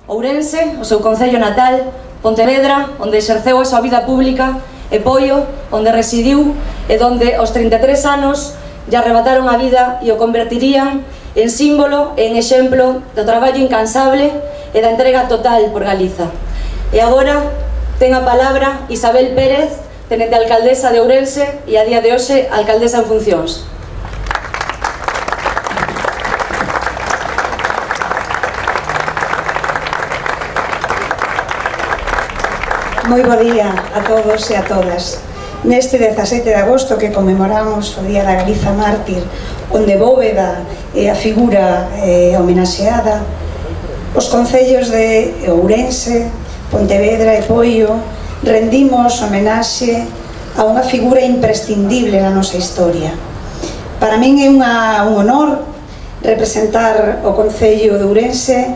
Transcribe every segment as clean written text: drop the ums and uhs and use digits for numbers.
Ourense, o seu concello natal, Pontevedra, onde exerceu a súa vida pública, e Poio, onde residiu e onde aos 33 anos lle arrebataron a vida e o convertirían en símbolo e en exemplo do traballo incansable e da entrega total por Galiza. E agora ten a palabra Isabel Pérez, tenente alcaldesa de Ourense e a día de hoxe alcaldesa en funcións. Moi bo día a todos e a todas. Neste 17 de agosto que conmemoramos o Día da Galiza Mártir, onde Bóveda é a figura homenaxeada, os concellos de Ourense, Pontevedra e Poio rendimos homenaxe a unha figura imprescindible na nosa historia. Para min é un honor representar o concello de Ourense,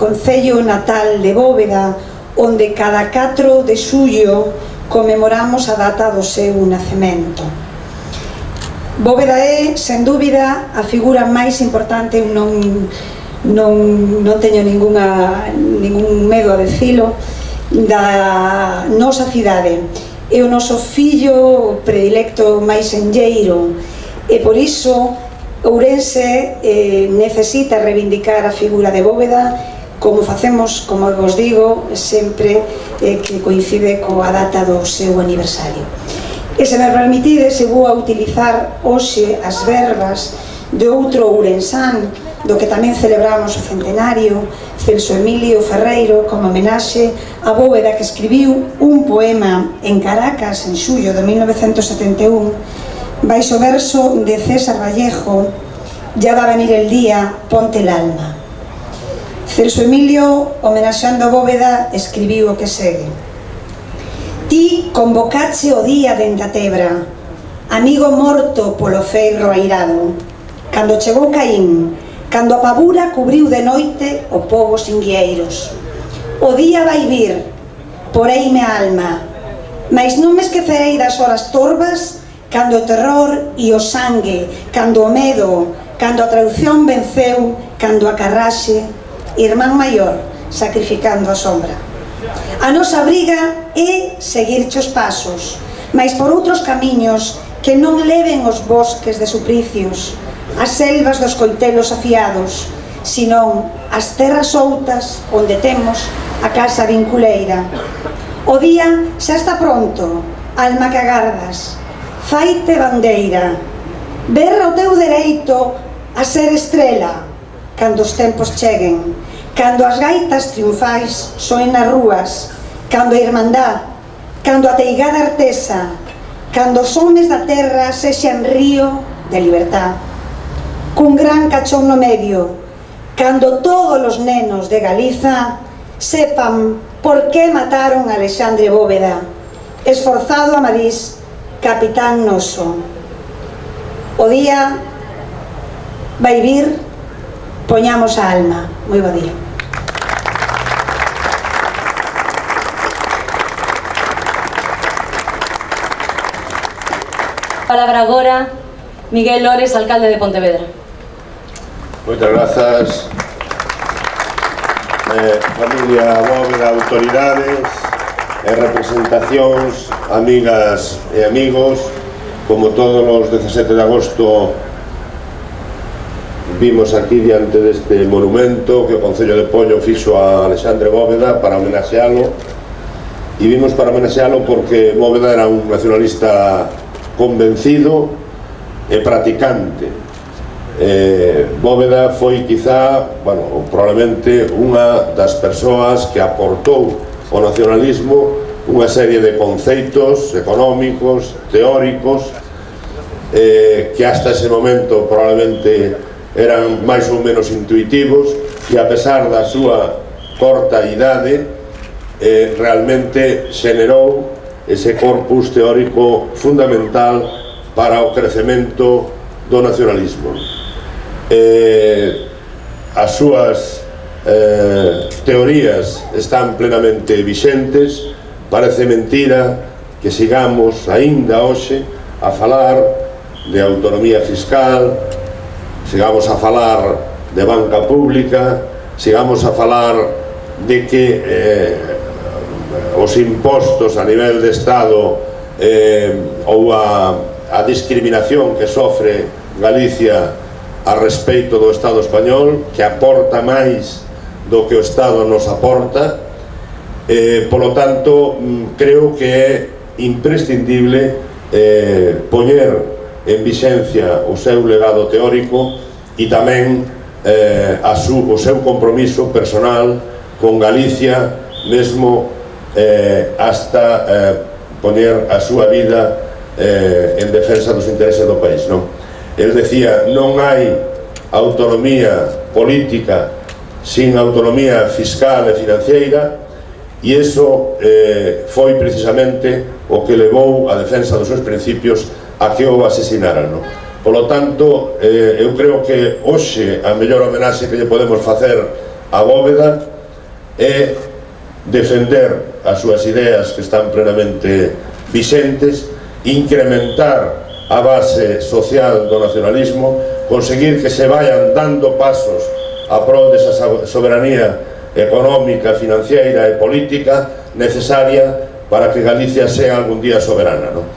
concello natal de Bóveda, onde cada 4 de xullo conmemoramos a data do seu nacemento. Bóveda é, sen dúbida, a figura máis importante, non teño ningún medo a dicilo, da nosa cidade. É o noso fillo predilecto máis enlleiro, e por iso Ourense necesita reivindicar a figura de Bóveda, como facemos, como vos digo, sempre que coincide coa data do seu aniversario. E se me permitides, vou a utilizar hoxe as verbas de outro ourensán, do que tamén celebramos o centenario, Celso Emilio Ferreiro, como homenaxe a Bóveda, que escribiu un poema en Caracas en xullo de 1971, baixo verso de César Vallejo, Ya va a venir el día, ponte el alma. Celso Emilio, homenaxeando a Bóveda, escribiu o que segue: Ti convocache o día dende a Tebra, amigo morto polo feirro airado, cando chegou Caín, cando a pavura cubriu de noite o pobo sin guieiros. O día vai vir, poreime a alma, mais non me esquecerei das horas torvas, cando o terror e o sangue, cando o medo, cando a traición venceu, cando a carraxe, irmán maior, sacrificando a sombra. A nosa briga é seguirche os pasos, mais por outros camiños que non leven os bosques de suplicios, as selvas dos coitelos afiados, senón as terras outas onde temos a casa vinculeira. O día xa está pronto, alma que agardas, faite bandeira, berra o teu dereito a ser estrela, cando os tempos cheguen, cando as gaitas triunfais soen nas rúas, cando a irmandad, cando a teigada artesa, cando os homes da terra sexan río de libertad, cun gran cachón no medio, cando todos os nenos de Galiza sepan por que mataron a Alexandre Bóveda, esforzado Amadís, capitán noso. O día vai vir, poñamos a alma. Moi bo día. Palabra agora Miguel Lores, alcalde de Pontevedra. Moitas grazas, familia Bóveda, autoridades e representacións, amigas e amigos. Como todos os 17 de agosto vimos aquí diante deste monumento que o Concello de Poio fixo a Alexandre Bóveda para homenaxealo, e vimos para homenaxealo porque Bóveda era un nacionalista convencido e practicante. Bóveda foi quizá, probablemente unha das persoas que aportou ao nacionalismo unha serie de conceitos económicos, teóricos, que hasta ese momento probablemente eran máis ou menos intuitivos, e a pesar da súa corta idade realmente xenerou ese corpus teórico fundamental para o crecemento do nacionalismo. As súas teorías están plenamente vixentes. Parece mentira que sigamos aínda hoxe a falar de autonomía fiscal, sigamos a falar de banca pública, sigamos a falar de que os impostos a nivel de Estado ou a discriminación que sofre Galicia a respeito do Estado español, que aporta máis do que o Estado nos aporta. Polo tanto, creo que é imprescindible poñer en vixencia o seu legado teórico e tamén o seu compromiso personal con Galicia, mesmo hasta poñer a súa vida en defensa dos intereses do país, non? El decía, non hai autonomía política sin autonomía fiscal e financiera, e iso foi precisamente o que levou a defensa dos seus principios a que o asesinaran, non? Polo tanto, eu creo que hoxe a mellor homenaxe que lle podemos facer a Bóveda é defender as súas ideas que están plenamente vixentes, incrementar a base social do nacionalismo, conseguir que se vayan dando pasos a prol desa soberanía económica, financiera e política necesaria para que Galicia sea algún día soberana, non?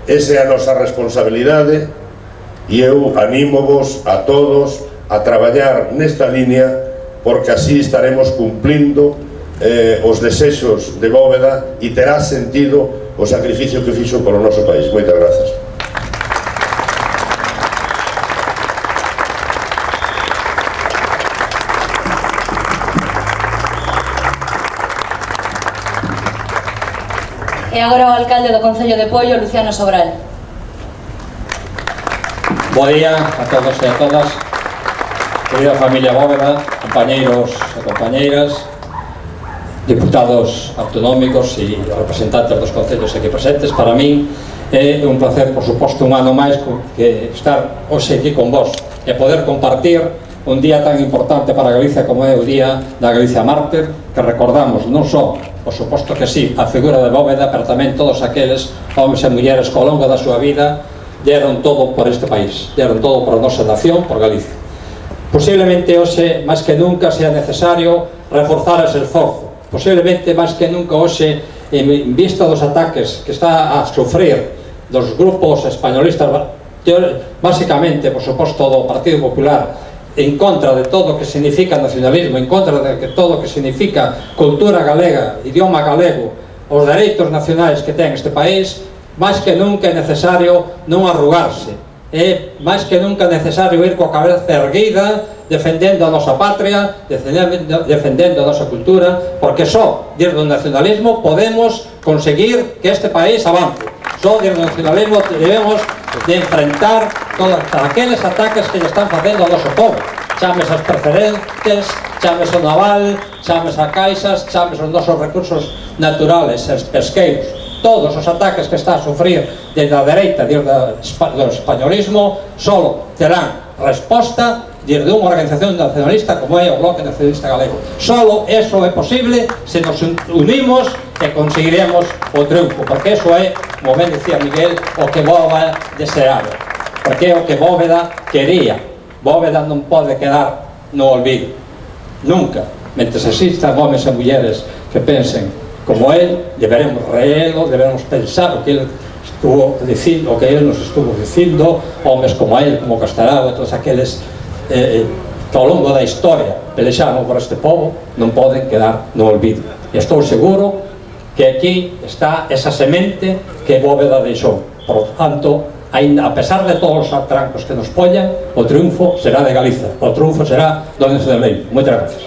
Esa é a nosa responsabilidade e eu anímovos a todos a traballar nesta línea, porque así estaremos cumplindo os desexos de Bóveda e terá sentido o sacrificio que fixo polo noso país. Moitas grazas. E agora o alcalde do Concello de Poio, Luciano Sobral. Bo día a todos e a todas, querida familia Bóveda, compañeiros e compañeiras, diputados autonómicos e representantes dos concellos aquí presentes. Para min é un placer, por suposto, un ano máis que estar hoxe aquí con vos e poder compartir un día tan importante para Galicia como é o Día da Galicia Mártir, que recordamos non só, por suposto que sí, a figura de Bóveda, pero tamén todos aqueles homens e mulleres que ao longo da súa vida deron todo por este país, deron todo por a nosa nación, por Galicia. Posiblemente hoxe, máis que nunca, sea necesario reforzar ese esforzo. Posiblemente, máis que nunca hoxe, en vista dos ataques que está a sufrir dos grupos españolistas, básicamente, por suposto, do Partido Popular, en contra de todo o que significa nacionalismo, en contra de todo o que significa cultura galega, idioma galego, os dereitos nacionais que ten este país, máis que nunca é necesario non arrugarse, é máis que nunca necesario ir coa cabeza erguida, defendendo a nosa patria, defendendo a nosa cultura, porque só desde o nacionalismo podemos conseguir que este país avance. Só desde o nacionalismo debemos de enfrentar todos aqueles ataques que lle están facendo ao noso povo, chames as preferentes, chames o naval, chames a caixas, chames os nosos recursos naturales, os pesqueiros, todos os ataques que está a sufrir desde a dereita, desde o españolismo, só terán resposta desde unha organización nacionalista como é o Bloque Nacionalista Galego. Solo eso é posible se nos unimos e conseguiremos o triunfo, porque eso é, como ben decía Miguel, o que Bóveda deseaba, porque é o que Bóveda quería. Bóveda non pode quedar no olvido, nunca. Mentres existan homens e mulleres que pensen como él, deberemos reelo, deberemos pensar o que él estuvo dicindo, o que él nos estuvo dicindo, homens como él, como Castelao e todos aqueles que ao longo da historia pelexaron por este povo, non poden quedar no olvido. E estou seguro que aquí está esa semente que Bóveda deixou. Por tanto, a pesar de todos os atrancos que nos pollan, o triunfo será de Galiza, o triunfo será do nacionalismo. Moitas gracias.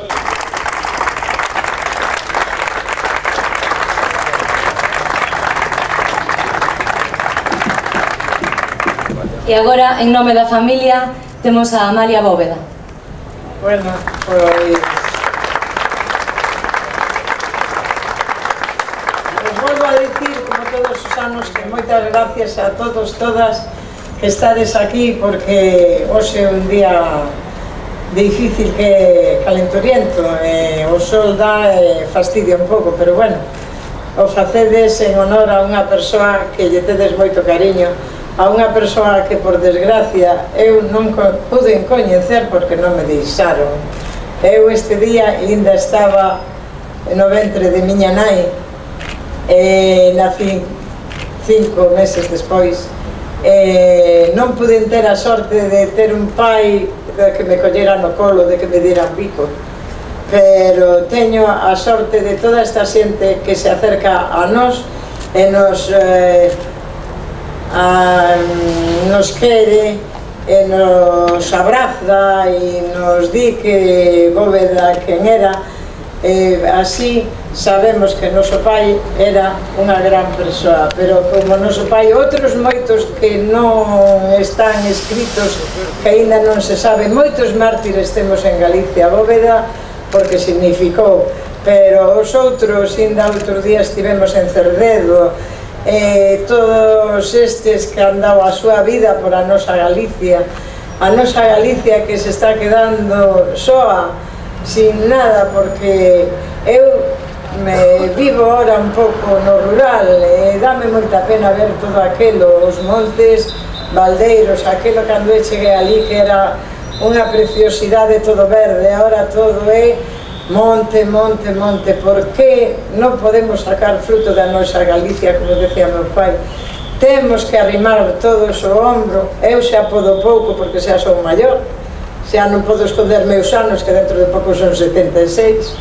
E agora, en nome da familia, temos a Amalia Bóveda. Bueno, pois... volvo a dicir, como todos os anos, que moitas gracias a todos, todas, que estades aquí, porque hoxe é un día difícil, que calenturiento, o sol dá e fastidia un pouco, pero bueno, o facedes en honor a unha persoa que lle tedes moito cariño, a unha persoa que, por desgracia, eu non pude coñecer porque non me deixaron Eu este día ainda estaba no ventre de miña nai, nací 5 meses despois, non pude ter a sorte de ter un pai que me collera no colo, de que me diera un bico, pero teño a sorte de toda esta xente que se acerca a nós e nos quere e nos abraza e nos di que Bóveda quen era, así sabemos que noso pai era unha gran persoa, pero como noso pai outros moitos que non están escritos, que aínda non se sabe, moitos mártires temos en Galicia. Bóveda porque significou, pero os outros, ainda outro día estivemos en Cerdedo, todos estes que han dado a súa vida por a nosa Galicia que se está quedando soa, sin nada, porque eu vivo ahora un pouco no rural e dame moita pena ver todo aquelo, os montes, baldeiros, aquelo cando eu cheguei ali que era unha preciosidade, todo verde, agora todo é monte, monte, monte. Por que non podemos sacar fruto da nosa Galicia, como decía meu pai? Temos que arrimar todos o ombro. Eu xa podo pouco porque xa son maior, xa non podo esconder meus anos, que dentro de pouco son 76,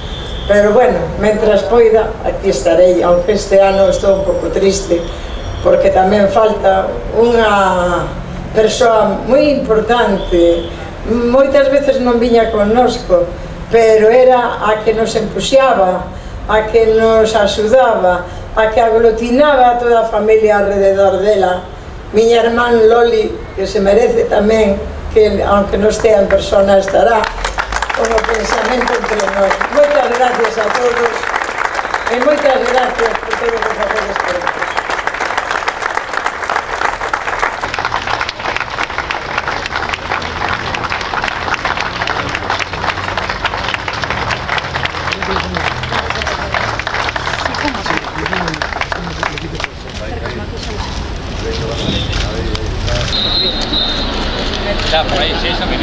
pero bueno, mentras poida, aquí estarei, aunque este ano estou un pouco triste, porque tamén falta unha persoa moi importante. Moitas veces non viña connosco, pero era a que nos empuxaba, a que nos axudaba, a que aglutinaba a toda a familia alrededor dela. Miña irmán Loli, que se merece tamén, que aunque non estea en persona estará con o pensamento entre nós. Moitas gracias a todos e moitas gracias por todo o que facedes por nós. Ya, por ahí, sí, eso que